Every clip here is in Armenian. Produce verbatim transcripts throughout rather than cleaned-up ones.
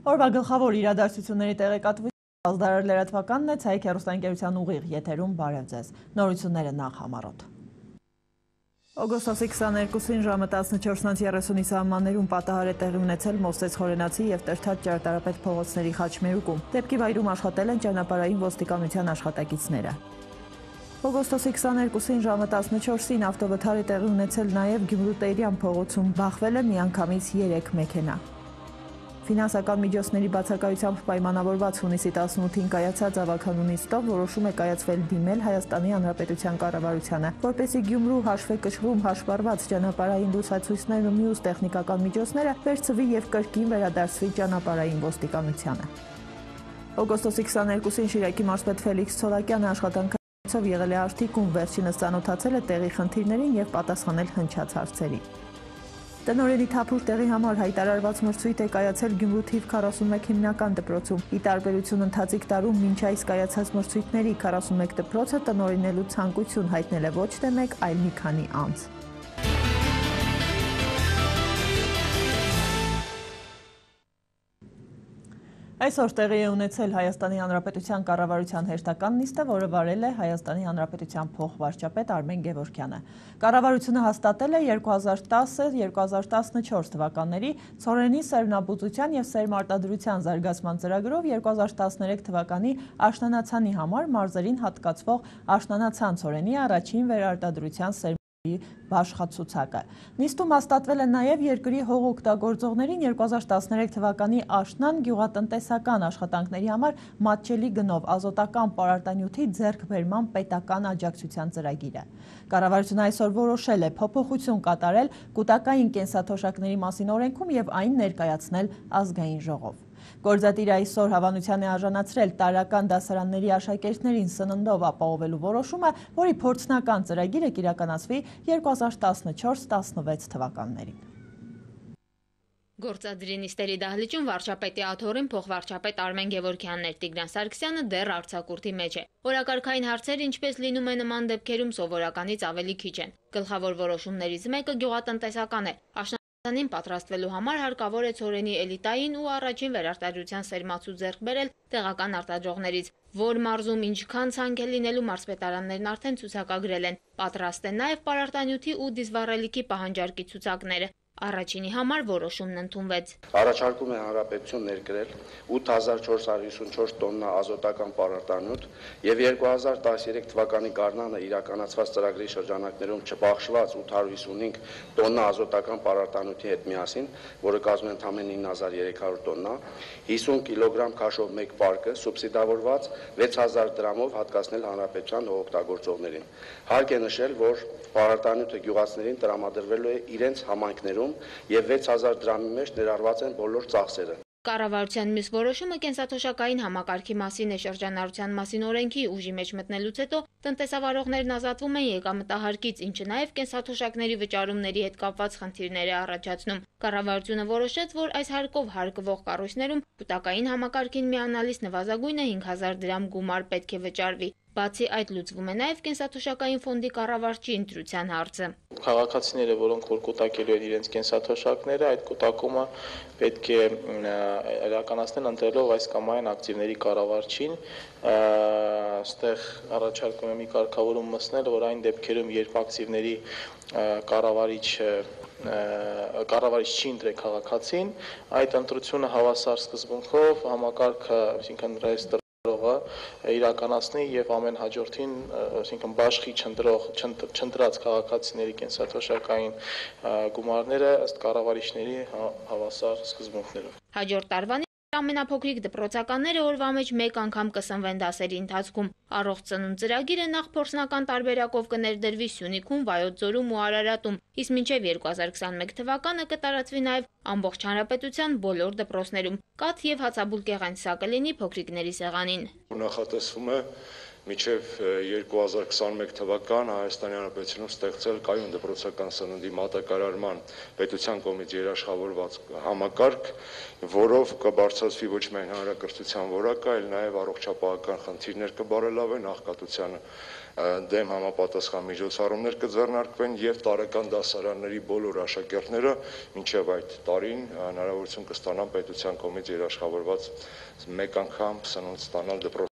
Օրվա գլխավոր իրադարձությունների տեղեկատվությունը ազդարար լրատվականն է, Ցայք հեռուստաընկերության ուղիղ եթերում բարև ձեզ։ Նորությունները նախ համառոտ։ Օգոստոսի քսաներկուսին ժամը տասնչորսից երեսունի սահմաններում պատահար է տեղի ունեցել Մովսես Խորենացի եւ Տրթած ճարտարապետ փողոցների խաչմերուկում։ Դեպքի վայրում աշխատել են ճանապարհային ոստիկանության աշխատակիցները։ Օգոստոսի քսաներկուսին ժամը տասնչորսին ավտովթար է տեղի ունեցել նաև Գյումրու Տերյան փողոցում, բախվել է միանգամից երեք մեքենա։ Ֆինանսական միջոցների բացակայությամբ պայմանավորված հունիսի տասնութին կայացած ավագանու նիստով որոշում է կայացվել դիմել Հայաստանի Հանրապետության կառավարությանը, որպեսզի Գյումրու հաշվեկշռում հաշվառված ճանապարհային լուսացույցներն ու մյուս տեխնիկական միջոցները վերցվի եւ կրկին վերադարձվի ճանապարհային ոստիկանությանը։ Օգոստոսի քսաներկուսին Շիրակի մարզպետ Ֆելիքս Ցոլակյանը աշխատանքով եղել է Արտիկում, վերջինս ծանոթացել է տեղի խնդիրներին եւ պատասխանել հնչած հարցերին։ Տնօրենի թափուր տեղի համար հայտարարված մրցույթ է կայացել Գյումրու թիվ քառասունմեկ հիմնական դպրոցում։ Ի տարբերություն ընթացիկ տարում մինչ այս կայացած մրցույթների քառասունմեկ դպրոցը տնօրինելու ցանկություն հայտնել է ոչ թե մեկ, այլ մի քանի անձ։ Այսօր տեղի է ունեցել Հայաստանի Հանրապետության կառավարության հերթական նիստը, որը վարել է Հայաստանի Հանրապետության փոխվարչապետ Արմեն Գևորգյանը։ Կառավարությունը հաստատել է երկու հազար տասը երկու հազար տասնչորս թվականների ցորենի սերմնաբուծության եւ սերմարտադրության զարգացման ծրագրով երկու հազար տասներեք թվականի աշնանացանի համար մարզերին հատկացվող աշնանացան ցորենի առաջին վերարտադրության սերմ Բաշխացուցակը։ Նիստում հաստատվել է նաև երկրի հողօգտագործողներին երկու հազար տասներեք թվականի աշնան գյուղատնտեսական աշխատանքների համար մատչելի գնով ազոտական պարարտանյութի ձեռքբերման պետական աջակցության ծրագիրը։ Կառավարությունը այսօր որոշել է փոփոխություն կատարել կուտակային կենսաթոշակների մասին օրենքում եւ այն ներկայացնել ազգային ժողով։ Գործադիրը այսօր հավանության է արժանացրել տարրական դասարանների աշակերտներին սննդով ապահովելու որոշումը, որի փորձնական ծրագիրը կիրականացվի երկու հազար տասնչորս տասնվեց թվականներին։ Գործադիրի նիստերի դահլիճում վարչապետի աթոռին փոխվարչապետ Արմեն Գևորգյանն էր, Տիգրան Սարգսյանը դեռ արձակուրդի մեջ է։ Օրակարգային հարցեր, ինչպես լինում է նման դեպքերում, սովորականից ավելի քիչ են։ Գլխավոր որոշումներից մեկը գյուղատնտեսական է։ Աշնանին պատրաստվելու համար հարկավոր է ցորենի էլիտային ու առաջին վերարտադրության սերմացու ձեռք բերել տեղական արտադրողներից, որ մարզում ինչքան ցանկ է լինելու մարզպետարաններն արդեն ցուցակագրել են։ Պատրաստ է նաև պարարտանյութի ու դիզվառելիքի պահանջարկի ցուցակները։ Առաջինի համար որոշումն ընդունվեց։ Առաջարկում է Հանրապետություն ներկրել ութ հազար չորս հարյուր հիսունչորս տոննա ազոտական պարարտանյութ եւ երկու հազար տասներեք թվականի գարնանը իրականացված ծրագրի շրջանակներում չբաշխված ութ հարյուր հիսունհինգ տոննա ազոտական պարարտանյութի հետ միասին, որը կազմում է ընդամենը ինը հազար երեք հարյուր տոննա, հիսուն կիլոգրամ քաշով մեկ պարկը սուբսիդավորված վեց հազար դրամով հատկացնել Հանրապետության հողօգտագործողներին։ Հարկ է նշել, որ պարարտանյութը գյուղացիներին տրամադրվելու է իրենց համայնքներում եւ վեց հազար դրամի մեջ ներառված են բոլոր ծախսերը։ Կառավարության մյուս որոշումը կենսաթոշակային համակարգի մասին է։ Շրջանառության մասին օրենքի ուժի մեջ մտնելուց հետո տնտեսավարողներն ազատվում են եկամտահարկից, ինչը նաև կենսաթոշակների վճարումների հետ կապված խնդիրներ է առաջացնում։ Կառավարությունը որոշեց, որ այս հարկով հարկվող կառույցներում կուտակային համակարգին միանալիս նվազագույնը հինգ հազար դրամ գումար պետք է վճարվի։ Բացի այդ լուծվում է նաև կենսաթոշակային ֆոնդի կառավարչի ընտրության հարցը։ Քաղաքացիները, որոնք որ կուտակելու են իրենց կենսաթոշակները, այդ կուտակումը պետք է իրականացնել ընտրելով այս կամ այն ակտիվների կառավարչին։ Այստեղ առաջարկում եմ մի կարգավորում մտցնել, որ այն դեպքերում, երբ ակտիվների կառավարիչը կառավարիչ չի ընտրել քաղաքացին, այդ ընտրությունը հավասար սկզբունքով համակարգը, այսինքն ռեեստրը իրականացնի եւ ամեն հաջորդին, այսինքն բաշխի չընտրող չընտրած քաղաքացիների կենսաթոշակային գումարները ըստ կառավարիչների հավասար սկզբունքներով։ Հաջորդ տարվան ամենափոքրիկ դպրոցականները օրվա մեջ մեկ անգամ կսնվեն դասերի ընթացքում։ Առողջ ծնունդ ծրագիրը նախ փորձնական տարբերակով կներդրվի Սյունիքում, Վայոց ձորում ու Արարատում, իսկ մինչև երկու հազար քսաներեք թվականը կտարածվի նաև ամբողջ հանրապետության բոլոր դպրոցներում։ Կաթ եւ հացաբուլկեղեն սա կլինի փոքրիկների սեղանին։ Նախատեսվում է մինչև երկու հազար քսաներեք թվական Հայաստանի Հանրապետությունում ստեղծել կայուն դպրոցական սննդի մատակարարման պետության կողմից երաշխավորված համակարգ, որով կբարձրացվի ոչ միայն հանրակրթության որակը, այլ նաև առողջապահական խնդիրներ կբարելավեն, աղքատության դեմ համապատասխան միջոցառումներ կձեռնարկվեն եւ տարեկան դասարանների բոլոր աշակերտները մինչեւ այդ տարին հնարավորություն կստանան պետության կողմից երաշխավորված մեկ անգամ սնունդ ստանալ դպրոցում։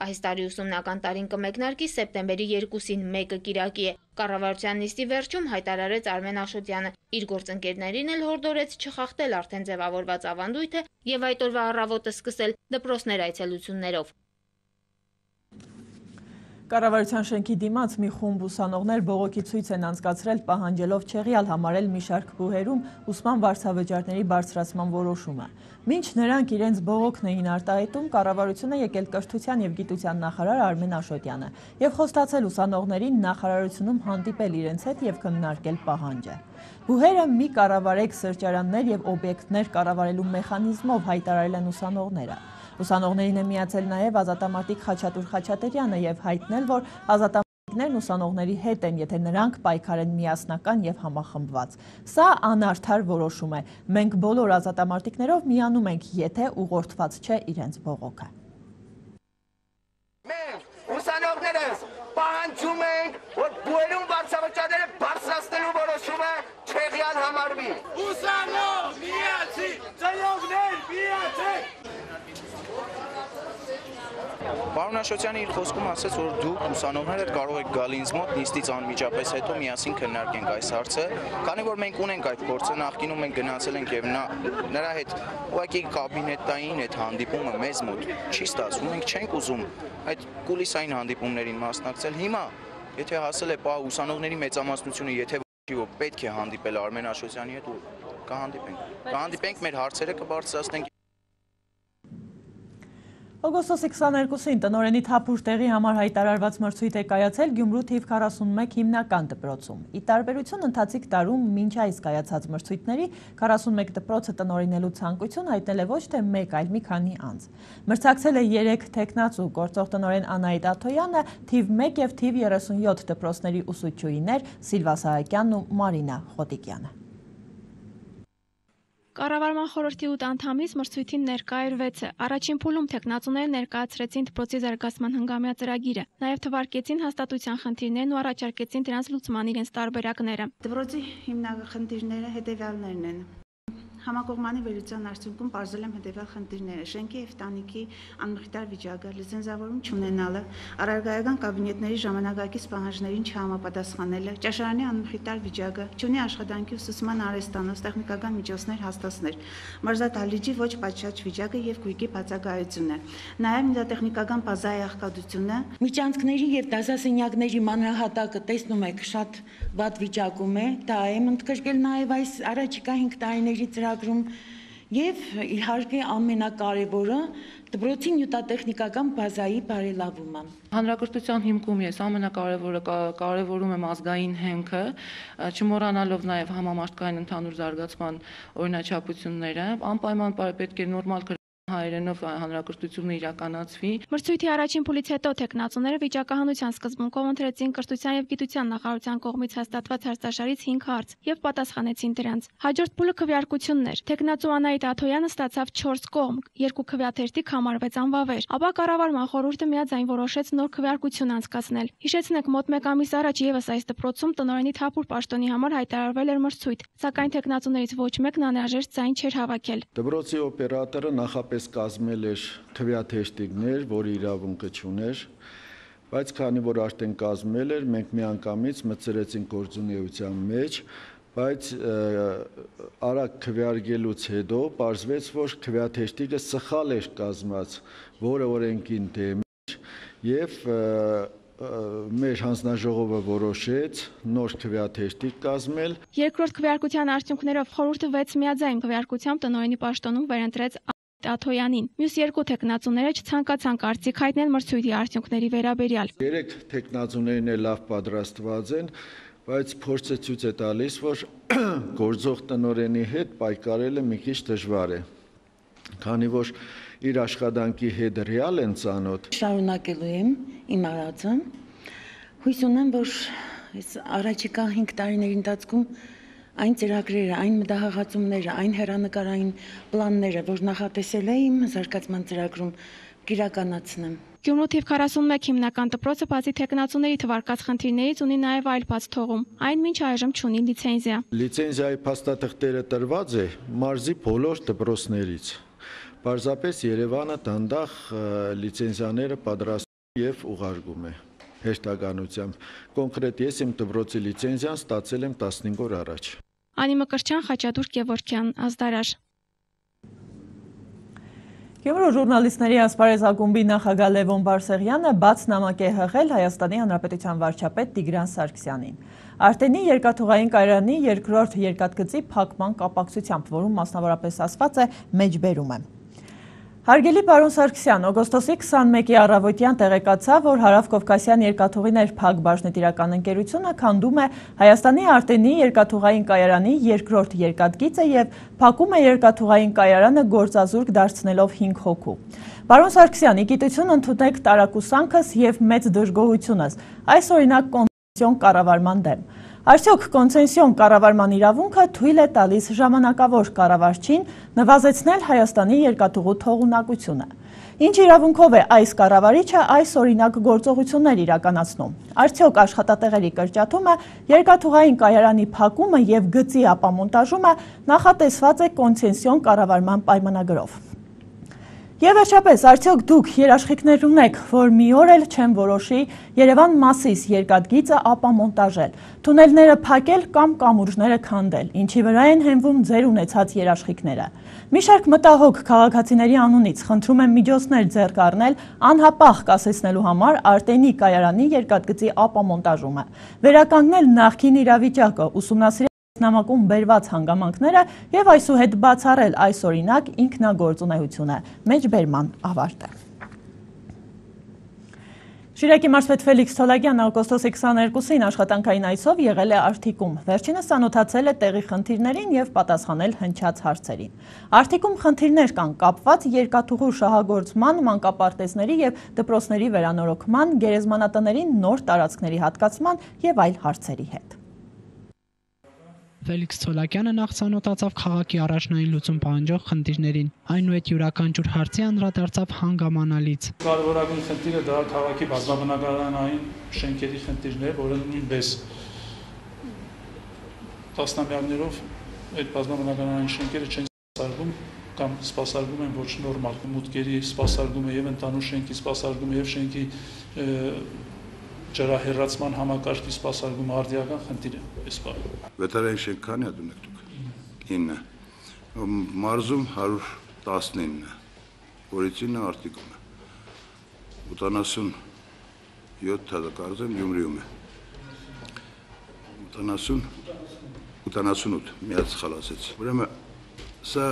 Այս տարի ուսումնական տարին կմեկնարկի սեպտեմբերի երկուսին մեկը կիրակի է։ Կառավարության նիստի վերջում հայտարարեց Արմեն Աշոտյանը։ Իր գործընկերներին էլ հորդորեց չխախտել արդեն ձևավորված ավանդույթը եւ այդ օրվա առավոտը սկսել դպրոցներ այցելություններով։ Կառավարության շենքի դիմաց մի խումբ ուսանողներ բողոքի ցույց են անցկացրել, պահանջելով չեղյալ համարել մի շարք բուհերում ուսման վարձավճարների բարձրացման որոշումը։ Մինչ նրանք իրենց բողոքն էին արտահայտում, կառավարությունը եկել կրթության եւ գիտության նախարար Արմեն Աշոտյանը եւ խոստացել ուսանողներին նախարարությունում հանդիպել իրենց հետ եւ քննարկել պահանջը։ Բուհերը մի կառավարեք սրճարաններ եւ օբյեկտներ կառավարելու մեխանիզմով հայտարարել են ուսանողները։ Ուսանողներին է միացել նաև ազատամարտիկ Խաչատուր Խաչատրյանը եւ հայտնել, որ ազատամարտիկներն ուսանողների հետ են, եթե նրանք պայքարեն միասնական եւ համախմբված։ Սա անարդար որոշում է։ Մենք բոլոր ազատամարտիկներով միանում ենք, եթե ուղղորդված չէ իրենց բողոքը։ Մենք ուսանողներս պահանջում ենք, որ բուհերում վարձավճարները բարձրացնելու որոշումը չեղյալ համարվի։ Ուսանող միացի, ծնողներ միացեք։ Պարոն Աշոտյանը իր խոսքում ասաց, որ դուք ուսանողները կարող եք գալ ինձ մոտ նիստից անմիջապես հետո միասին քննարկենք այս հարցը, քանի որ մենք ունենք այդ փորձը, նախկինում մենք գնացել ենք եւ նա նրա հետ ուղղակի կաբինետային այդ հանդիպումը մեզ մոտ չի ստացվում, մենք չենք ուզում այդ կուլիսային հանդիպումներին մասնակցել։ Հիմա եթե հասել է պահ ուսանողների մեծամասնությունը, եթե ոչ պետք է հանդիպել Արմեն Աշոտյանի հետ, կհանդիպենք։ Կհանդիպենք, մեր հարցերը կբարձրացնենք։ Օգոստոսի քսաներկուսին տնօրենի թափուր տեղի համար հայտարարված մրցույթ է կայացել Գյումրու թիվ քառասունմեկ հիմնական դպրոցում։ Ի տարբերություն ընթացիկ տարում մինչ այս կայացած մրցույթների քառասունմեկ դպրոցը տնօրինելու ցանկություն հայտնել է ոչ թե մեկ, այլ մի քանի անձ։ Մրցակցել է երեք տեխնացու, գործող տնօրեն Անահիտ Աթոյանը, թիվ մեկ եւ թիվ երեսունյոթ դպրոցների ուսուցչուհիներ Սիլվա Սահակյանն ու Մարինա Խոտիկյանը։ Կառավարման խորհրդի ութ անդամից մրցույթին ներկա էր վեցը։ Առաջին փուլում տեխնացուները ներկայացրեցին դպրոցի զարգացման հնգամյա ծրագիրը, նաև թվարկեցին հաստատության խնդիրներն ու առաջարկեցին դրանց լուծման իրենց տարբերակները։ Դպրոցի հիմնական խնդիրները հետևյալներն են։ Համակողմանի վերլուծության արդյունքում պարզել եմ հետևյալ խնդիրները՝ շենքի եւ տանիքի անմխիթար վիճակը, լիցենզավորում չունենալը, առարգայական կաբինետների ժամանակակից պահանջներին չհամապատասխանելը, ճաշարանի անմխիթար վիճակը, չունի աշխատանքի ուսուցման արհեստանոց, տեխնիկական միջոցներ հաստատներ, մարզադահլիճի ոչ պատշաճ վիճակը եւ գույքի բացակայությունը, նաեւ նյութատեխնիկական բազայի աղքատությունը։ Միջանցքների եւ դասասենյակների մանրահատակը տեսնում եք շատ վատ վիճակում է, դա է ընդգրկել նաեւ այս առաջիկա հինգ տարիների ծրագրում եւ իհարկե ամենակարևորը դպրոցի նյութատեխնիկական բազայի բարելավումը։ Հանրակրթության հիմքում ես ամենակարևորը կարևորում եմ ազգային հենքը, չմոռանալով նաեւ համամարտկային ընդհանուր զարգացման օրինաչափությունները, անպայման պետք է նորմալ հայերենով հանրակրթությունը իրականացվի։ Մրցույթի առաջին փուլից հետո տեխնացուները վիճակահանության սկզբունքով ընտրեցին կրթության եւ գիտության նախարարության կողմից հաստատված հարցաշարից հինգ հարց եւ պատասխանեցին դրանց։ Հաջորդ փուլը քվեարկությունն էր։ Տեխնացու Անահիտ Աթոյանը ստացավ չորս կողմ, երկու քվեաթերթիկ համարվեց անվավեր։ Ապա կառավարման խորհուրդը միաձայն որոշեց նոր քվեարկություն անցկացնել։ Հիշեցնենք, մոտ մեկ ամիս առաջ եւս այս դպրոցում տնօրենի թափուր պաշտոնի համար հայտարարվել էր մրցույթ, սակայն տեխնացուներից ոչ մեկն անհրաժեշտ ձայն չէր հավաքել։ Դպրոցի օպերատորը նախապես կազմել էր թվյաթեշտիկներ, որի իրավունքը չուներ, բայց քանի որ արդեն կազմել էր, մենք միանգամից մտցրեցինք գործունեության մեջ, բայց արագ քվեարկելուց հետո պարզվեց, որ թվյաթեշտիկը սխալ էր կազմած, որը օրենքին դեմ էր, եւ մեր հանձնաժողովը որոշեց նոր քվեաթեշտիկ կազմել։ Երկրորդ քվեարկության արդյունքներով խորհուրդը վեց միաձայն քվեարկությամբ տնօրենի պաշտոնում վերընտրեց Աթոյանին։ Մյուս երկու տեխնացուները չցանկացան կարծիք հայտնել մրցույթի արդյունքների վերաբերյալ։ Երեք տեխնացուներն էլ լավ պատրաստված են, բայց փորձը ցույց է տալիս, որ գործող տնօրենի հետ պայքարելը մի քիչ դժվար է, քանի որ իր աշխատանքի հետ ռեալ են ծանոթ։ Շարունակելու եմ իմ արածը։ Հույս ունեմ, որ այս առաջիկա հինգ տարիների ընթացքում այն ծրագրերը, այն մտահղացումները, այն հեռանկարային պլանները, որ նախատեսել եմ զարգացման ծրագրում, կիրականացնեմ։ Գյումրու թիվ քառասունմեկ հիմնական դպրոցը բացի թեկնածուների թվարկած խնդիրներից ունի նաև այլ բաց թողում։ Այն մինչ այժմ չունի լիցենզիա։ Լիցենզիայի փաստաթղթերը տրված է մարզի բոլոր դպրոցներից։ Պարզապես Երևանը դանդաղ լիցենզիաները պատրաստում եւ ուղարկում է հեշտականությամբ։ Կոնկրետ ես իմ դպրոցի լիցենզիան ստացել եմ տասնհինգ օր առաջ։ Անի Մկրտչյան, Խաչատուր Գևորգյան, Ազդարար։ Գյումրու ժուրնալիստների ասպարեզ ակումբի նախագահ Լևոն Բարսեղյանը բաց նամակ է հղել Հայաստանի Հանրապետության վարչապետ Տիգրան Սարգսյանին։ Արտենի երկաթուղային կայարանի երկրորդ երկաթգծի փակման կապակցությամբ, որում մասնավորապես ասված է մեջբերում է։ Հարգելի պարոն Սարգսյան, օգոստոսի քսանմեկի առավոտյան տեղեկացավ, որ Հարավկովկասյան երկաթուղիներ Փակ բաժնետիրական ընկերությունը քանդում է Հայաստանի Արտենի երկաթուղային կայարանի երկրորդ երկաթգիծը եւ փակում է երկաթուղային կայարանը գործազուրկ դարձնելով հինգ հոգու։ Պարոն Սարգսյան, ի գիտություն ընդունեք տարակուսանքս եւ մեծ դժգոհությունս, այս օրինակ կոնցեսիոն կառավարման դեմ։ Արդյոք կոնցեսիոն կառավարման իրավունքը թույլ է տալիս ժամանակավոր կառավարչին նվազեցնել Հայաստանի երկաթուղու թողունակությունը։ Ինչ իրավունքով է այս կառավարիչը այս օրինակ գործողություններ իրականացնում։ Արդյոք աշխատատեղերի կրճատումը, երկաթուղային կայարանի փակումը եւ գծի ապամոնտաժումը նախատեսված է կոնցեսիոն կառավարման պայմանագրով։ Եվ վերջապես, արդյոք դուք երաշխիքներ ունեք, որ մի օր էլ չեն որոշի Երևան Մասիս երկաթգիծը ապամոնտաժել, թունելները փակել կամ կամուրջները քանդել, ինչի վրա են հենվում ձեր ունեցած երաշխիքները։ Մի շարք մտահոգ քաղաքացիների անունից խնդրում եմ միջոցներ ձեռք առնել անհապաղ կասեցնելու համար Արտենի կայարանի երկաթգծի ապամոնտաժումը, վերականգնել նախկին իրավիճակը, ուսումնասիրել նամակում բերված հանգամանքները եւ այսուհետ բացառել այս օրինակ ինքնագործունեությունը, մեջբերման ավարտը։ Շիրակի մարզպետ Ֆելիքս Թոլակյանը օգոստոսի քսաներկուսին աշխատանքային այցով եղել է Արթիկում։ Վերջինս ծանոթացել է տեղի խնդիրներին եւ պատասխանել հնչած հարցերին։ Արթիկում խնդիրներ կան կապված երկաթուղու շահագործման, մանկապարտեզների եւ դպրոցների վերանորոգման, գերեզմանատների նոր տարածքների հատկացման եւ այլ հարցերի հետ։ Ֆելիքս Թոլակյանը նախ ծանոթացավ քաղաքի առաջնային լուծում պահանջող խնդիրներին, այնուհետ յուրաքանչյուր հարցի անդրադարձավ հանգամանալից։ Կարևորագույն խնդիրը դա քաղաքի բազմաբնակարանային շենքերի խնդիրն է, որը նույնպես տասնամյակներով այդ բազմաբնակարանային շենքերը չեն սպասարկում կամ սպասարկում են ոչ նորմալ մուտքերի սպասարկումը եւ ընդանուր շենքի սպասարկումը եւ շենքի ջրահեռացման համակարգի սպասարկումը արդիական խնդիր է այս բանը։ Վետարային շենք քանի հատ ունեք դուք։ ինը։ Մարզում հարյուր տասնինը, որից ինը Արտիկում է։ ութանասունյոթ հատ կարծեմ Գյումրիում է։ ութանասուն ութանասունութ միած սխալ ասեցի։ Ուրեմն սա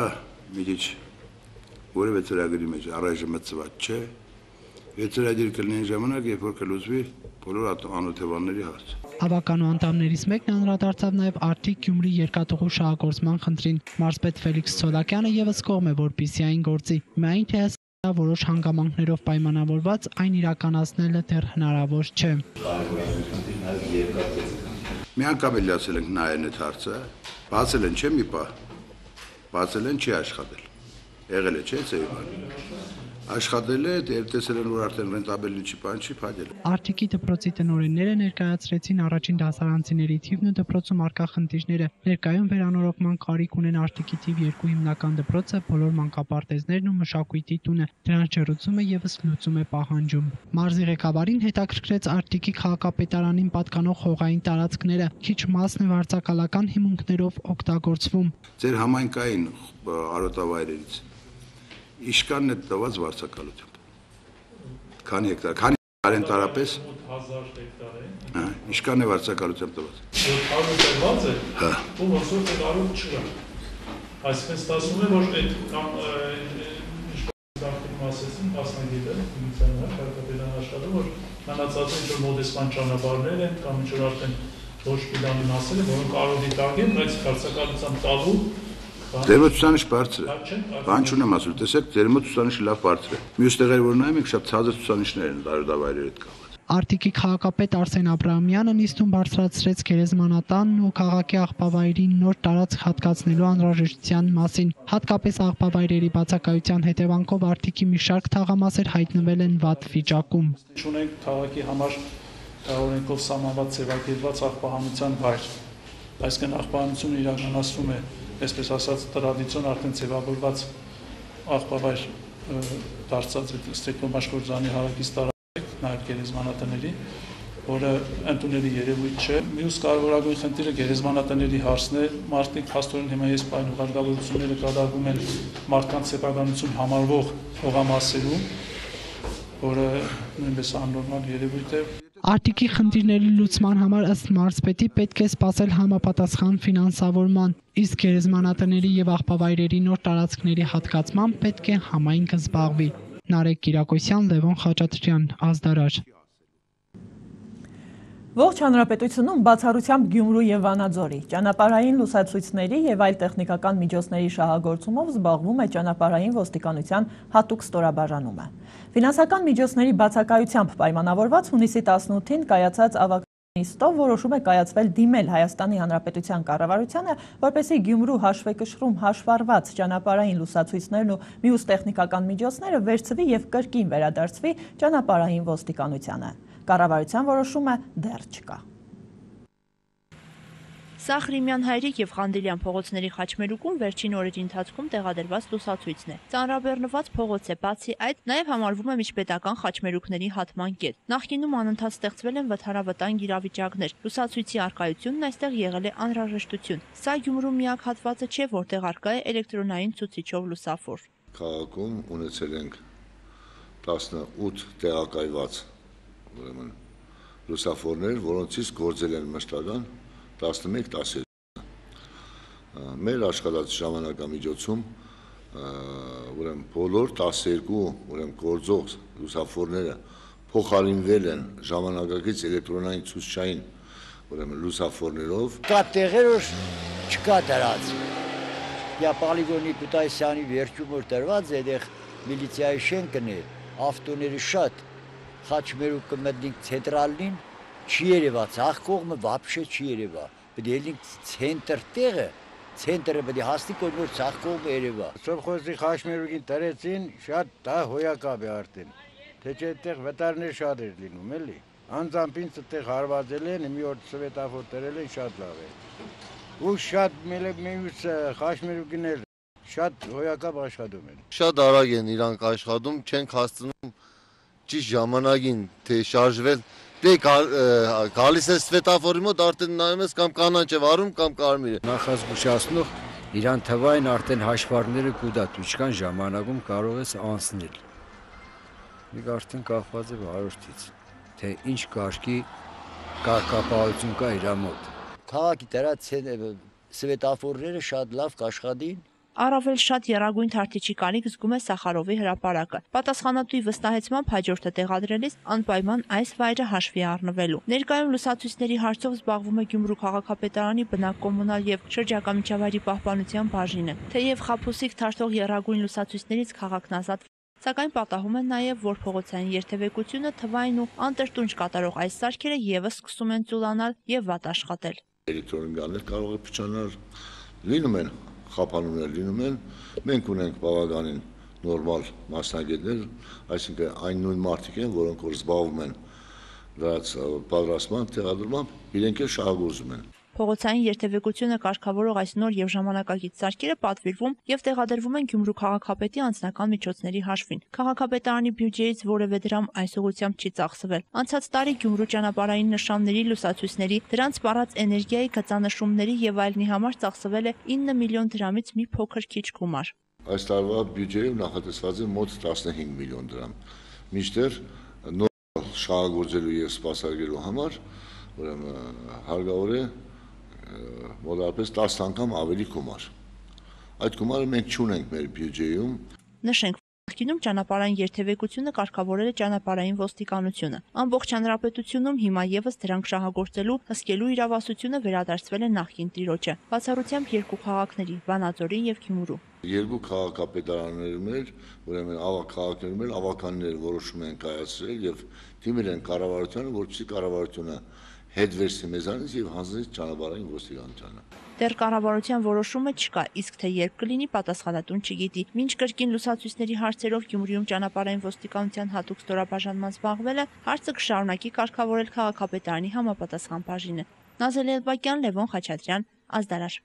մի քիչ որևէ ծրագրի մեջ առայժմ մտցված չէ։ Եթե ծրագիր կլինի ժամանակ, երբ որ կլուծվի բոլոր անօթևանների հարց։ Հավաքանու անդամներից մեկն անդրադարձավ նաև Արտիկ Գյումրի երկաթուղու շահագործման խնդրին։ Մարզպետ Ֆելիքս Թոլակյանը եւս կողմ է, որպեսզի այն գործի, միայն թե ըստ որոշ հանգամանքներով պայմանավորված այն իրականացնելը դեռ հնարավոր չէ։ Մի անգամ էլ ասել ենք նայեն այդ հարցը, բացել են չէ մի պահ, բացել են չի աշխատել, եղել է չէ ծեի բան։ Աշխատել է, դեր տեսել են, որ արդեն ռենտաբելի չի բան չի փակել։ Արտիկի դպրոցի տնօրենները ներկայացրեցին առաջին դասարանցիների թիվն ու դպրոցում առկա խնդիրները։ Ներկայում վերանորոգման կարիք ունեն Արտիկի թիվ երկու հիմնական դպրոցը, բոլոր մանկապարտեզներն ու մշակույթի տունը։ Դրանց ջրուցումը եւս լուծում է պահանջում։ Մարզի ղեկավարին հետաքրքրեց Արտիկի քաղաքապետարանին պատկանող հողային տարածքները, քիչ մասն է վարձակալական հիմունքներով օգտագործվում։ Ձեր համայնքային արոտավայրերից Իշկանն է տված վարձակալությամբ։ Քանի հեկտար, քանի հեկտար են տարապես։ հազար հեկտար է։ Հա, իշկանն է վարձակալությամբ տված։ հարյուր տված է։ Հա։ Ու ոսոր տալու չկա։ Այսինքն ստացվում է, որ այդ կամ ինչպես ասեցին, մասնագետը, ինքնանալ քաղաքապետարան աշխատում, որ մնացած ինչ որ մոդեսման ճանապարհներ են կամ ինչ որ արդեն ոչ պլանի մասեր են, որոնք կարող դիտակ են, բայց վարձակալությամբ տալու Ձերմը ցուցանիշ բարձր է։ Բան չունեմ ասում, տեսեք, ձերմը ցուցանիշը լավ բարձր է։ Մյուս տեղեր որ նայում եք, շատ ցածր ցուցանիշներ են տարօրավայրերի հետ կապված։ Արտիկի քաղաքապետ Արսեն Աբրահամյանը նիստում բարձրացրեց գերեզմանատանն ու քաղաքի աղբավայրին նոր տարածք հատկացնելու անհրաժեշտության մասին։ Հատկապես աղբավայրերի բացակայության հետևանքով Արտիկի մի շարք թաղամասեր հայտնվել են վատ վիճակում։ Ունենք քաղաքի համար օրենքով սահմանված ձևակերպված աղբահանության վայր։ Այսինքն աղբահանությունը իրականացվում է, այսպես ասած, տրադիցիոն արդեն ձևավորված աղբավայր դարձած Ստեփնամաշկորձանի հարակից տարածք, նաև գերեզմանատների, որը ընդունելի երևույթ չէ։ Մյուս կարևորագույն խնդիրը գերեզմանատների հարցն է։ Մարդիկ փաստորեն հիմա ես պայն ուղարկավորությունները կատարվում են մարդկանց սեփականություն համարվող հողամասերում, որը նույնպես աննորմալ երևույթ է։ Արտիկի խնդիրների լուծման համար ըստ մարզպետի պետք է սպասել համապատասխան ֆինանսավորման, իսկ գերեզմանատների եւ աղբավայրերի նոր տարածքների հատկացման պետք է համայնքը զբաղվի։ Նարեկ Կիրակոսյան, Լևոն Խաչատրյան, Ազդարար։ Ողջ հանրապետությունում բացառությամբ Գյումրու եւ Վանաձորի ճանապարհային լուսացույցների եւ այլ տեխնիկական միջոցների շահագործումով զբաղվում է ճանապարհային ոստիկանության հատուկ ստորաբաժանումը։ Ֆինանսական միջոցների բացակայությամբ պայմանավորված հունիսի տասնութին կայացած ավագ նիստով որոշում է կայացվել դիմել Հայաստանի Հանրապետության կառավարությանը, որպեսզի Գյումրու հաշվեկշռում հաշվառված ճանապարհային լուսացույցներն ու մյուս տեխնիկական միջոցները վերցվի եւ կրկին վերադարձվի ճանապարհային ոստիկանությանը։ Կառավարության որոշումը դեռ չկա։ Սա Ղրիմյան Հայրիկ եւ Խանդիլյան փողոցների խաչմերուկում վերջին օրերի ընթացքում տեղադրված լուսացույցն է։ Ծանրաբեռնված փողոց է, բացի այդ, նաեւ համարվում է միջպետական խաչմերուկների հատման կետ։ Նախկինում անընդհատ ստեղծվել են վթարավտանգ իրավիճակներ։ Լուսացույցի առկայությունն այստեղ եղել է անհրաժեշտություն։ Սա Գյումրու միակ հատվածը չէ, որտեղ առկա է էլեկտրոնային ցուցիչով լուսավոր։ Քաղաքում ունեցել ենք տասնութ տեղակայված ուրեմն լուսավորներ, որոնցից գործել են մշտական տասնմեկ տասներկու։ Մեր աշխատած ժամանակամիջոցում ուրեմն բոլոր տասներկու ուրեմն գործող լուսավորները փոխարինվել են ժամանակակից էլեկտրոնային ցուցչային ուրեմն լուսավորներով։ Կա տեղեր, որ չկա դրած։ Յա Պալիգոնի Կուտայսյանի վերջում որ դրված է, այդեղ միլիցիայի շենքն է, ավտոների շատ խաչմերուկը մտնիկ ցենտրալին չի երևաց, ախ կողմը вообще չի երևա։ Պետք է լինի ցենտր տեղը, ցենտրը պետք է հասնի կողմը ցախ կողմը երևա։ Սովխոզի խաչմերուկին դրեցին, շատ դա հոյակապ է արդեն։ Թե չէ այդտեղ վտարներ շատ էր լինում, էլի։ Անձամբ ինձ այդտեղ հարվածել են, մի օր սվետաֆոր դրել են, շատ լավ է։ Ու շատ մյուս խաչմերուկիներ շատ հոյակապ աշխատում են։ Շատ արագ են իրանք աշխատում, չենք հասցնում ճիշտ ժամանակին թե շարժվել, դե գալիս է սվետաֆորի մոտ արդեն նայում ես կամ կանաչ է վարում կամ կարմիր է։ Նախազգուշացնող իրան թվային արդեն հաշվարկները կուտատ, ինչքան ժամանակում կարող ես անցնել։ Մենք արդեն կախված է վարորդից, թե ինչ կարգի կարգապահություն կա իր մոտ։ Քաղաքի դրած սվետաֆորները շատ լավ կաշխատին։ Առավել շատ եռագույն թարթիչի կարիք զգում է Սախարովի հրապարակը։ Պատասխանատուի վստահեցմամբ հաջորդը տեղադրելիս անպայման այս վայրը հաշվի առնվելու։ Ներկայում լուսացույցների հարցով զբաղվում է Գյումրու քաղաքապետարանի բնակկոմունալ եւ շրջակա միջավայրի պահպանության բաժինը։ Թեև խաբուսիկ թարթող եռագույն լուսացույցներից քաղաքն ազատ, սակայն պատահում են նաեւ, որ փողոցային երթևեկությունը թվային ու անտրտունջ կատարող այս սարքերը եւս սկսում են ծուլանալ եւ վատ աշխատել։ Էլեկտրոնիկաներ կարող է փչանալ, լինում են խափանումներ լինում են, մենք ունենք բավականին նորմալ մասնագետներ, այսինքն այն նույն մարդիկ են, որոնք որ զբաղվում են դրանց պատրաստման, տեղադրմամբ, իրենք էլ շահագործում են։ Փողոցային երթևեկությունը կարգավորող այս նոր եւ ժամանակակից սարքերը պատվիրվում եւ տեղադրվում են Գյումրու քաղաքապետի անձնական միջոցների հաշվին։ Քաղաքապետարանի բյուջեից որևէ դրամ այս ուղղությամբ չի ծախսվել։ Անցած տարի Գյումրու ճանապարհային նշանների, լուսացույցների, դրանց սպառած էներգիայի գծանշումների եւ այլնի համար ծախսվել է ինը միլիոն դրամից մի փոքր քիչ գումար։ Այս տարվա բյուջեում նախատեսված է մոտ տասնհինգ միլիոն դրամ։ Մինչդեռ նոր շահագործելու եւ սպասարկելու համար ուրեմն հարկավոր է մոտավորապես տասը անգամ ավելի գումար։ Այդ գումարը մենք չունենք մեր բյուջեում։ Նշենք, Նախկինում ճանապարհային երթևեկությունը կարգավորել է ճանապարհային ոստիկանությունը։ Ամբողջ հանրապետությունում հիմա եւս դրանք շահագործելու հսկելու իրավասությունը վերադարձվել է նախկին տիրոջը, բացառությամբ երկու քաղաքների՝ Վանաձորի եւ Գյումրու։ Երկու քաղաքապետարաններում էլ, ուրեմն ավակ քաղաքներում էլ ավականներ որոշում են կայացրել եւ դիմել են կառավարությանը, որպեսզի կառավարությունը հետ վերցնի մեզանից եւ հանձնի ճանապարհային ոստիկանությանը։ Դեռ կառավարության որոշումը չկա, իսկ թե երբ կլինի պատասխանատուն չգիտի։ Մինչ կրկին լուսացույցների հարցերով Գյումրիում ճանապարհային ոստիկանության հատուկ ստորաբաժանման զբաղվելը հարցը կշարունակի կարգավորել քաղաքապետարանի համապատասխան բաժինը։ Նազել Էլբակյան, Լևոն Խաչատրյան, Ազդարար։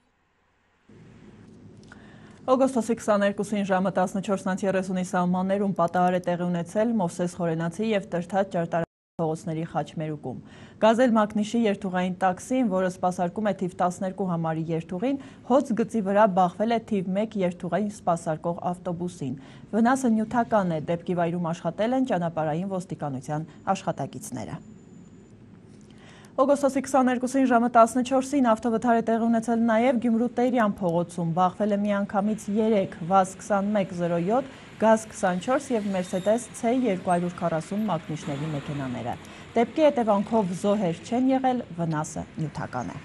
Օգոստոսի քսաներկուսին ժամը տասնչորս երեսունի սահմաններում պատահար է տեղի ունեցել Մովսես Խորենացի եւ Տրթած ճարտարապետի փողոցների խաչմերուկում։ Գազել Մակնիշի երթուղային տաքսին, որը սպասարկում է թիվ տասներկու համարի երթուղին, հոծ գծի վրա բախվել է թիվ մեկ երթուղային սպասարկող ավտոբուսին։ Վնասը նյութական է, դեպքի վայրում աշխատել են ճանապարհային ոստիկանության աշխատակիցները։ Օգոստոսի քսաներկուսին ժամը տասնչորսին ավտովթար է տեղի ունեցել նաև Գյումրու Տերյան փողոցում, բախվել է միանգամից երեք վազ քսանմեկ զրո յոթ, գազ քսանչորս և Մերսեդես C երկու հարյուր քառասուն մակնիշների մեքենաները։ Դեպքի հետևանքով զոհեր չեն եղել, վնասը նյութական է։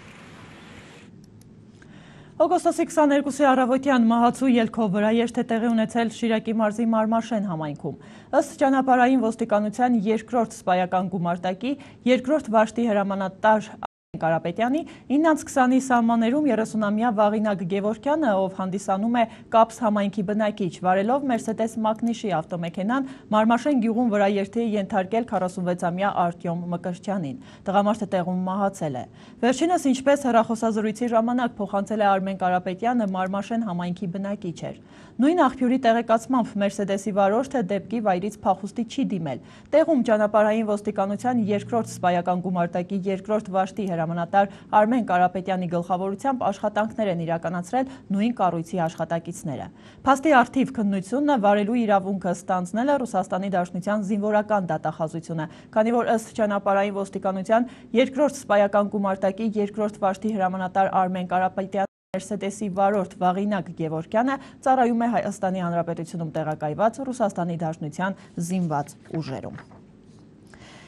Օգոստոսի քսաներկուսի առավոտյան մահացու ելքով վրաերթ է տեղի ունեցել Շիրակի մարզի Մարմաշեն համայնքում։ Ըստ ճանապարհային ոստիկանության երկրորդ սպայական գումարտակի երկրորդ վաշտի հրամանատար Կարապետյանի իննից քսանի սահմաններում երեսունամյա Վաղինակ Գևորգյանը, ով հանդիսանում է Կապս համայնքի բնակիչ, վարելով Մերսեդես Մակնիշի ավտոմեքենան Մարմաշեն գյուղում վրաերթի է ենթարկել քառասունվեցամյա Արտյոմ Մկրտչյանին։ Տղամարդը տեղում մահացել է։ Վերջինս, ինչպես հեռախոսազրույցի ժամանակ փոխանցել է Արմեն Կարապետյանը, Մարմաշեն համայնքի բնակիչ էր։ Նույն աղբյուրի տեղեկացմամբ Մերսեդեսի վարորդը դեպքի վայրից փախուստի չի դիմել։ Տեղում ճանապարհային ոստիկանության երկրորդ սպայական գումարտակի երկրորդ վաշտի հրամանատար Արմեն Կարապետյանի գլխավորությամբ աշխատանքներ են իրականացրել նույն կառույցի աշխատակիցները։ Փաստի առթիվ քննությունը վարելու իրավունքը ստանձնել է Ռուսաստանի Դաշնության զինվորական դատախազությունը, քանի որ ըստ ճանապարհային ոստիկանության երկրորդ սպայական գումարտակի երկրորդ վաշտի հրամանատար Արմեն Կարապետյանը Մերսեդեսի վարորդ Վաղինակ Գևորգյանը ծառայում է Հայաստանի Հանրապետությունում տեղակայված Ռուսաստանի Դաշնության զինված ուժերում։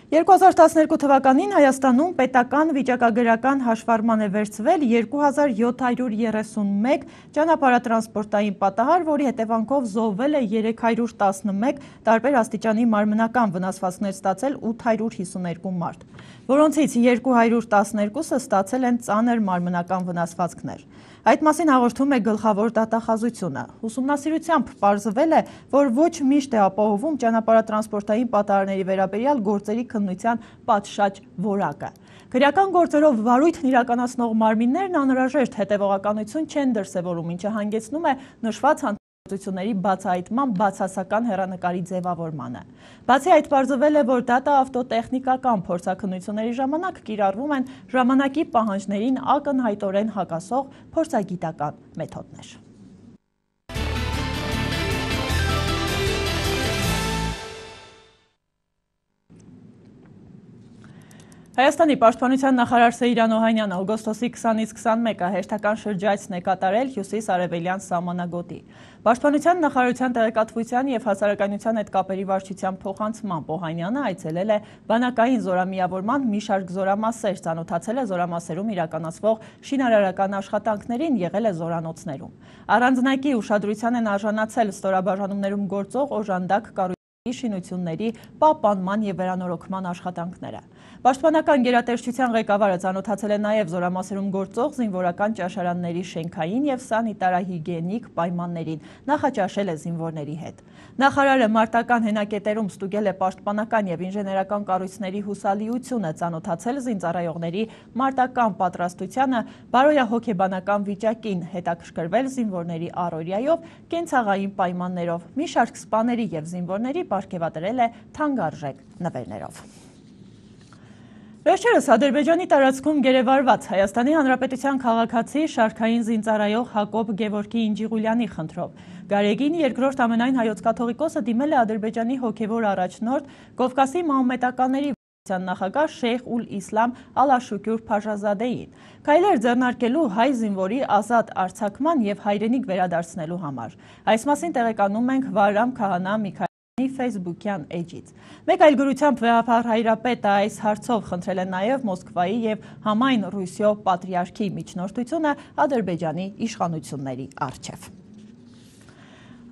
երկու հազար տասներկու թվականին Հայաստանում պետական վիճակագրական հաշվառման է վերցվել երկու հազար յոթ հարյուր երեսունմեկ ճանապարհատրանսպորտային պատահար, որի հետևանքով զոհվել է երեք հարյուր տասնմեկ, տարբեր աստիճանի մարմնական վնասվածքներ ստացել ութ հարյուր հիսուներկու մարդ, որոնցից երկու հարյուր տասներկուսը ստացել են ծանր մարմնական վնասվածքներ։ Այդ մասին հաղորդում է գլխավոր դատախազությունը։ Ուսումնասիրությամբ պարզվել է, որ ոչ միշտ է ապահովում ճանապարհատրանսպորտային պատահարների վերաբերյալ գործերի քննության պատշաճ որակը։ Քրեական գործերով վարույթն իրականացնող մարմիններն անհրաժեշտ հետևողականություն չեն դրսևորում, ինչը հանգեցնում է նշված հանցագործությունների բացահայտման բացասական հեռանկարի ձևավորմանը։ Բացի այդ, պարզվել է, որ դատաավտոտեխնիկական փորձաքննությունների ժամանակ կիրառվում են ժամանակի պահանջներին ակնհայտորեն հակասող փորձագիտական մեթոդներ։ Հայաստանի պաշտպանության նախարար Սեյրան Օհանյանը օգոստոսի քսանից քսանմեկը հերթական շրջայցն է կատարել հյուսիս-արևելյան սահմանագոտի։ Պաշտպանության նախարարության տեղեկատվության և հասարակայնության հետ կապերի վարչության փոխանցմամբ Օհանյանը այցելել է բանակային զորամիավորման մի շարք զորամասեր, ծանոթացել է զորամասերում իրականացվող շինարարական աշխատանքներին, եղել է զորանոցներում։ Առանձնակի ուշադրության են արժանացել ստորաբաժանումներում գործող օժանդակ կառույցների շինությունների պահպանման և վերանորոգման աշխատանքները։ Պաշտպանական գերատեսչության ղեկավարը ծանոթացել է նաև զորամասերում գործող զինվորական ճաշարանների շենքային և սանիտարահիգիենիկ պայմաններին, նախաճաշել է զինվորների հետ։ Նախարարը մարտական հենակետերում ստուգել է պաշտպանական և ինժեներական կառույցների հուսալիությունը, ծանոթացել զինծառայողների մարտական պատրաստությանը, բարոյահոգեբանական վիճակին, հետաքրքրվել զինվորների առօրյայով, կենցաղային պայմաններով, մի շարք սպաների և զինվորների պարգևատրել է թանկարժեք նվերներով։ Վերջերս Ադրբեջանի տարածքում գերեվարված Հայաստանի Հանրապետության քաղաքացի շարքային զինծառայող Հակոբ Գևորգի Ինջիղուլյանի խնդրով Գարեգին երկրորդ ամենայն հայոց կաթողիկոսը դիմել է Ադրբեջանի հոգևոր առաջնորդ Կովկասի մահմեդականների նախագահ Շեյխ ուլ Իսլամ Ալ-Աշուկյուր Փաշազադեին, քայլեր ձեռնարկելու հայ զինվորի ազատ արձակման եւ հայրենիք վերադարձնելու համար։ Այս մասին տեղեկանում ենք Վարամ Քահանա Միքայելյանի Facebook-յան էջից։ Մեկ այլ գրությամբ վեհապար հայրապետը այս հարցով խնդրել է նաեւ Մոսկվայի եւ համայն Ռուսիո պատրիարքի միջնորդությունը Ադրբեջանի իշխանությունների առջև։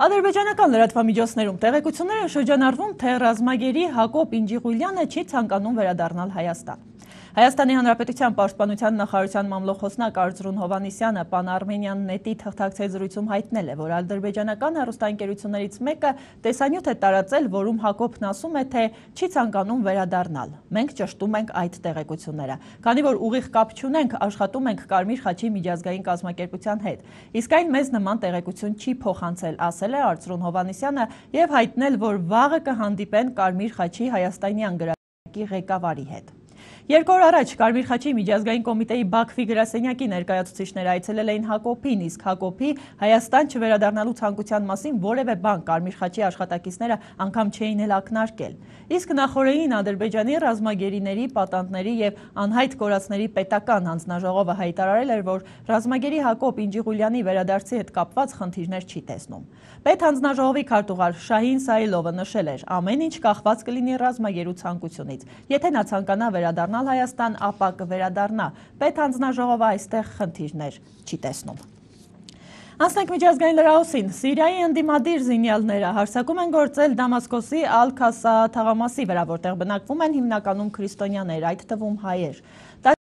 Ադրբեջանական լրատվամիջոցներում տեղեկություններ են շրջանառվում, թե ռազմագերի Հակոբ Ինջիղուլյանը չի ցանկանում վերադառնալ Հայաստան։ Հայաստանի Հանրապետության պաշտպանության նախարարության մամլոխոսնակ Արծրուն Հովհաննիսյանը Pan-Armenian Net-ի թղթակցի զրույցում հայտնել է, որ ադրբեջանական հեռուստաընկերություններից մեկը տեսանյութ է տարածել, որում Հակոբն ասում է, թե չի ցանկանում վերադառնալ։ Մենք ճշտում ենք այդ տեղեկությունները, քանի որ ուղիղ կապ չունենք, աշխատում ենք Կարմիր խաչի միջազգային կազմակերպության հետ։ Իսկ այն մեզ նման տեղեկություն չի փոխանցել, ասել է Արծրուն Հովհաննիսյանը եւ հայտնել, որ վաղը կհանդիպեն Կարմիր խաչի հայաստանյան գրադարանի ղեկավարի հետ։ Երկու օր առաջ Կարմիր խաչի միջազգային կոմիտեի Բաքվի գրասենյակի ներկայացուցիչները այցելել էին Հակոբին, իսկ Հակոբի Հայաստան չվերադառնալու ցանկության մասին որևէ բան Կարմիր խաչի աշխատակիցները անգամ չէին էլ ակնարկել։ Իսկ նախորդին Ադրբեջանի ռազմագերիների, պատանդների եւ անհայտ կորածների պետական հանձնաժողովը հայտարարել էր, որ ռազմագերի Հակոբ Ինջիղուլյանի վերադարձի հետ կապված խնդիրներ չի տեսնում։ Պետ հանձնաժողովի քարտուղար Շահին Սայլովը նշել էր, ամեն ինչ կախված կլինի ռազմագերու ցանկությունից։ Եթե նա ցանկանա վերադառնալ Հայաստան, ապա կվերադառնա։ Պետ հանձնաժողովը այստեղ խնդիրներ չի տեսնում։ Անցնենք միջազգային լրահոսին։ Սիրիայի ընդդիմադիր զինյալները հարձակում են գործել Դամասկոսի Ալ-Քասա թաղամասի վրա, որտեղ բնակվում են հիմնականում քրիստոնյաներ, այդ թվում հայեր։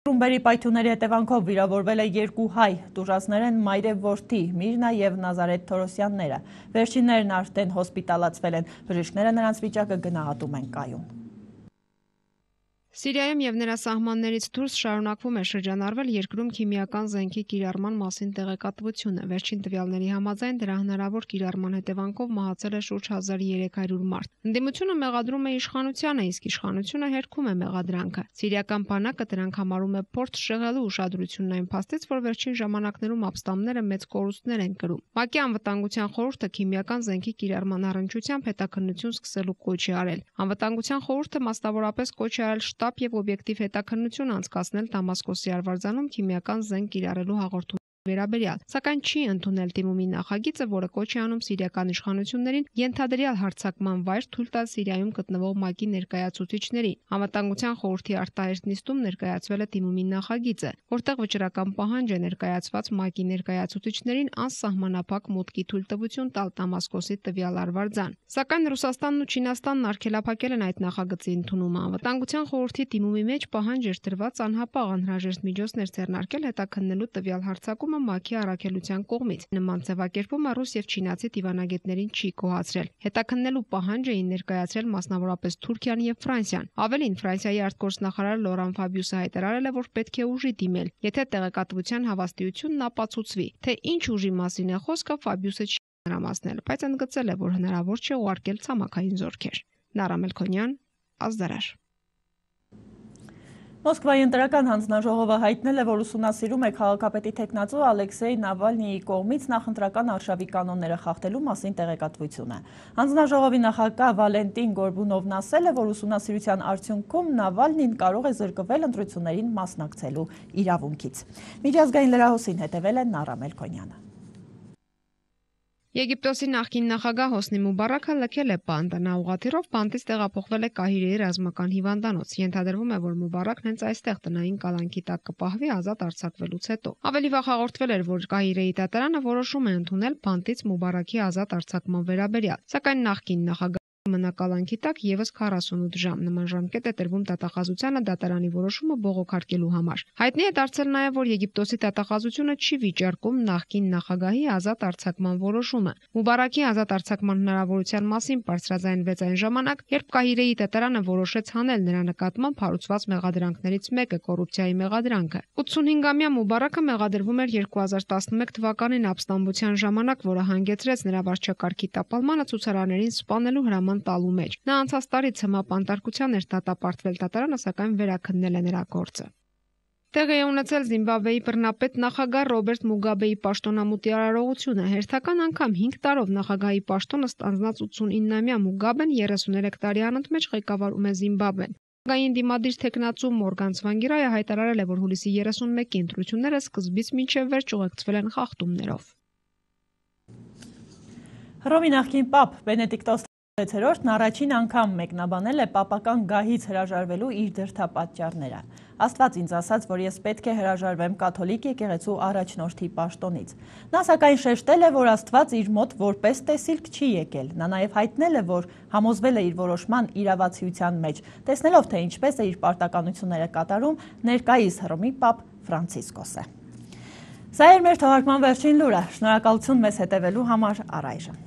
Ռումբերի պայթյունների հետևանքով վիրավորվել է երկու հայ, տուժածներ են մայրև որդի Միրնա եւ Նազարեթ Թորոսյանները։ Վերջիններն արդեն հոսպիտալացվել են, բժիշկները նրանց վիճակը գնահատում են կայուն։ Սիրիայում եւ նրա սահմաններից դուրս շարունակվում է շրջանառվել երկրում քիմիական զենքի կիրառման մասին տեղեկատվությունը։ Վերջին տվյալների համաձայն դրա հնարավոր կիրառման հետևանքով մահացել է շուրջ հազար երեք հարյուր մարդ։ Ընդդիմությունը մեղադրում է իշխանությանը, իսկ իշխանությունը հերքում է մեղադրանքը։ Սիրիական բանակը դրանք համարում է փորձ շեղելու ուշադրությունն այն փաստից, որ վերջին ժամանակներում ապստամբները մեծ կորուստներ են կրում։ ՄԱԿ-ի անվտանգության խորհուրդը քիմիական զենքի կիրառման առնչությամբ հետաքննություն սկսելու կոչ է արել։ Անվտանգության խորհուրդը մասնավորապես կոչ է արել շտաբ եւ օբյեկտիվ հետաքննություն անցկացնել Դամասկոսի արվարձանում քիմիական զենք կիրառելու հաղորդում վերաբերյալ, սակայն չի ընդունել դիմումի նախագիծը, որը կոչ է անում սիրիական իշխանություններին ենթադրյալ հարձակման վայր թույլ տալ Սիրիայում գտնվող ՄԱԿ-ի ներկայացուցիչներին։ Անվտանգության խորհրդի արտահերթ նիստում ներկայացվել է դիմումի նախագիծը, որտեղ վճռական պահանջ է ներկայացված ՄԱԿ-ի ներկայացուցիչներին անսահմանափակ մուտքի թույլտվություն տալ Դամասկոսի տվյալ արվարձան։ Սակայն Ռուսաստանն ու Չինաստանն արգելափակել են այդ նախագծի ընդունումը։ Անվտանգության խորհրդի դիմումի մեջ պահանջ էր տրված անհապաղ անհրաժեշտ միջոցներ ձեռնարկել հետաքննելու տվյալ հարձակումը ՄԱԿ-ի առաքելության կողմից։ Նման ձևակերպումը ռուս եւ չինացի դիվանագետներին չի գոհացրել։ Հետաքննելու պահանջ էին ներկայացրել մասնավորապես Թուրքիան եւ Ֆրանսիան։ Ավելին, Ֆրանսիայի արտգործնախարար Լորան Ֆաբիուսը հայտարարել է, որ պետք է ուժի դիմել, եթե տեղեկատվության հավաստիությունն ապացուցվի։ Թե ինչ ուժի մասին է խոսքը, Ֆաբիուսը չի մանրամասնել, բայց ընդգծել է, որ հնարավոր չէ ուղարկել ցամաքային զորքեր։ Նարա Մելքոնյան, Ազդարար։ Մոսկվայի ընտրական հանձնաժողովը հայտնել է, որ ուսումնասիրում է քաղաքապետի թեկնածու Ալեքսեյ Նավալնիի կողմից նախընտրական արշավի կանոնները խախտելու մասին տեղեկատվությունը։ Հանձնաժողովի նախագահ Վալենտին Գորբունովն ասել է, որ ուսումնասիրության արդյունքում Նավալնին կարող է զրկվել ընտրություններին մասնակցելու իրավունքից։ Միջազգային լրահոսին հետևել է Նարա Մելքոնյանը։ Եգիպտոսի նախկին նախագահ Հոսնի Մուբարաքը լքել է բանտը, նա ուղղաթիռով բանտից տեղափոխվել է Կահիրեի ռազմական հիվանդանոց։ Ենթադրվում է, որ Մուբարաքն հենց այստեղ տնային կալանքի տակ կպահվի ազատ արձակվելուց հետո։ Ավելի վաղ հաղորդվել էր, որ Կահիրեի դատարանը որոշում է ընդունել բանտից Մուբարաքի ազատ արձակման վերաբերյալ, սակայն նախկին նախագահ մնակալանքի տակ եւս քառասունութ ժամ նման ժամկետ է տրվում դատախազությանը դատարանի որոշումը բողոքարկելու համար։ Հայտնի է դարձել նաեւ, որ Եգիպտոսի դատախազությունը չի վիճարկում նախկին նախագահի ազատ արձակման որոշումը։ Մուբարակի ազատ արձակման հնարավորության մասին բարձրաձայնվեց այն ժամանակ, երբ Կահիրեի դատարանը որոշեց հանել նրա նկատմամբ հարուցված մեղադրանքներից մեկը՝ կոռուպցիայի մեղադրանքը։ ութսունհինգամյա Մուբարակը մեղադրվում էր երկու հազար տասնմեկ թվականին ապստամբության ժամանակ, որը հանգեցրեց նրա վարչակարգի տապալմանը ցուցարարներին սպանելու հրաման տալու մեջ։ Նա անցած տարի ցմահ բանտարկության էր դատապարտվել դատարանը, սակայն վերաքննել է նրա գործը։ Տեղի է ունեցել Զիմբաբվեի բռնապետ նախագահ Ռոբերտ Մուգաբեի պաշտոնամուտի արարողությունը։ Հերթական անգամ հինգ տարով նախագահի պաշտոնը ստանձնած ութսունիննամյա Մուգաբեն երեսուներեք տարի անընդմեջ ղեկավարում է Զիմբաբվեն։ Գային դիմադիր տեխնացու Մորգան Ցվանգիրայը հայտարարել է, որ հուլիսի երեսունմեկի ընտրությունները սկզբից մինչև վերջ ուղեկցվել են խախտումներով։ Հռոմի նախկին պապ Բենեդիկտոս տասնվեցերորդն առաջին անգամ մեկնաբանել է պապական գահից հրաժարվելու իր դրդապատճառները։ Աստված ինձ ասաց, որ ես պետք է հրաժարվեմ կաթոլիկ եկեղեցու առաջնորդի պաշտոնից։ Նա սակայն շեշտել է, որ Աստված իր մոտ որպես տեսիլք չի եկել։ Նա նաև հայտնել է, որ համոզվել է իր որոշման իրավացիության մեջ, տեսնելով, թե ինչպես է իր պարտականությունները կատարում ներկայիս Հռոմի պապ Ֆրանցիսկոսը։ Սա էր մեր թողարկման վերջին լուրը։ Շնորհակալություն մեզ հետևելու համար առայժմ։